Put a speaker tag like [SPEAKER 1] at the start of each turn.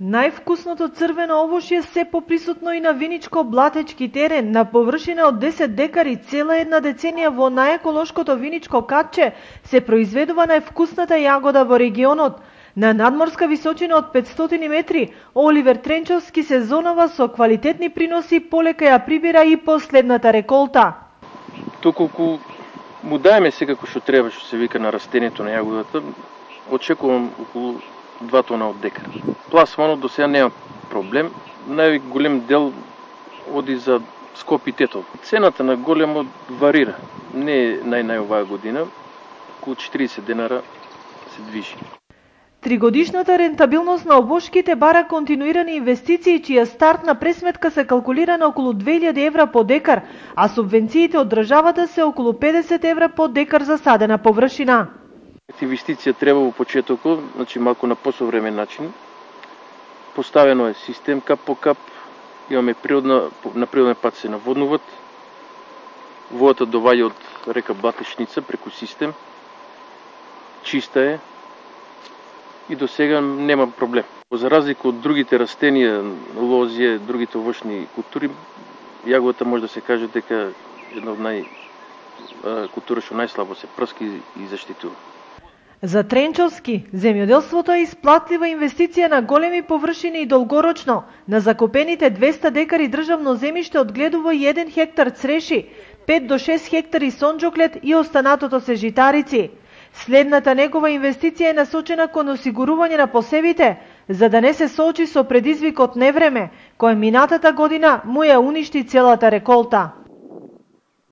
[SPEAKER 1] Највкусното црвено овошје се поприсутно и на виничко-блатечки терен на површина од 10 декари цела една деценија во најеколошкото виничко катче се произведува највкусната јагода во регионот. На надморска височина од 500 метри, Оливер Тренчовски сезонова со квалитетни приноси полека ја прибира и последната реколта.
[SPEAKER 2] Доколку му даеме секако што треба, што се вика на растението на јагодата, очекувам околу 2 тона од декар. Пласманот до сега нема проблем. Најголем дел оди за Скоп и Тетово. Цената на големо варира. Не е нај оваа година. Околу 40 денара се движи.
[SPEAKER 1] Тригодишната рентабилност на обошките бара континуирани инвестиции, чија стартна пресметка се калкулира на околу 2000 евра по декар, а субвенциите од државата се околу 50 евра по декар за садена површина.
[SPEAKER 2] Инвестиција треба во почетокот, значи малку на посовремен начин. Поставено е систем кап по кап, имаме на природен пат се наводнуват. Водата доваѓа од река Блатечница преку систем. Чиста е и до сега нема проблем. За разлика од другите растенија, лозје, другите овошни култури, јагодата може да се каже дека една од култури што најслабо се прски и заштитува.
[SPEAKER 1] За Тренчовски, земјоделството е исплатлива инвестиција на големи површини и долгорочно. На закупените 200 декари државно земјиште одгледува 1 хектар цреши, 5 до 6 хектари сонџоклет и останатото се житарици. Следната негова инвестиција е насочена кон осигурување на посевите, за да не се соочи со предизвикот невреме, кој минатата година му ја уништи целата реколта.